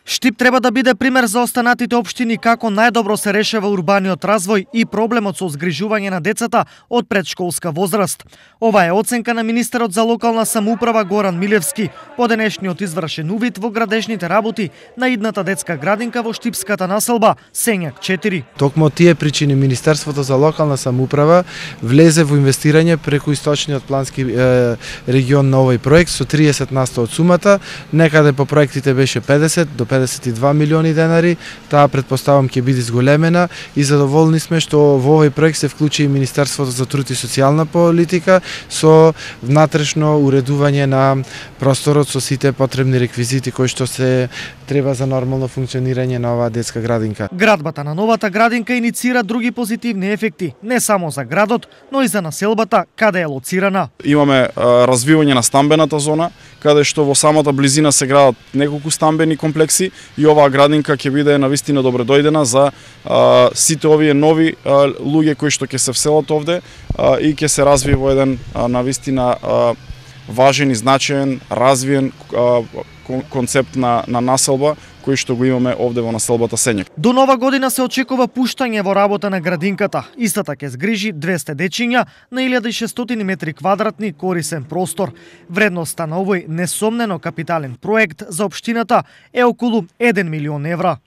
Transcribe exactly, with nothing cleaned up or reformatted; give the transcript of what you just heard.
Штип треба да биде пример за останатите општини како најдобро се решава урбаниот развој и проблемот со згрижување на децата од предшколска возраст. Ова е оценка на министерот за локална самоуправа Горан Милевски по денешниот извршен увид во градежните работи на идната детска градинка во штипската населба Сењак четири. Токму од тие причини Министерството за локална самоуправа влезе во инвестирање преку источниот плански е, регион на овој проект со триесет на сто од сумата, некаде по проектите беше педесет до педесет и два милиони денари, таа предпоставам ќе биде зголемена и задоволни сме што во овој проект се вклучи и Министерството за труд и социјална политика со внатрешно уредување на просторот со сите потребни реквизити кои што се треба за нормално функционирање на оваа детска градинка. Градбата на новата градинка иницира други позитивни ефекти, не само за градот, но и за населбата каде е лоцирана. Имаме а, развивање на стамбената зона, каде што во самата близина се градат неколку стамбени комплекси и оваа градинка ќе биде навистина добре дојдена за а, сите овие нови а, луѓе кои што ќе се вселат овде а, и ќе се развие во еден а, навистина а, важен и значаен, развиен а, концепт на, на населба кој што го имаме овде во населбата Сењак. До нова година се очекува пуштање во работа на градинката. Истата ќе згрижи двесте дечиња на илјада и шестстотини метри квадратни корисен простор. Вредноста на овој несомнено капитален проект за општината е околу еден милион евра.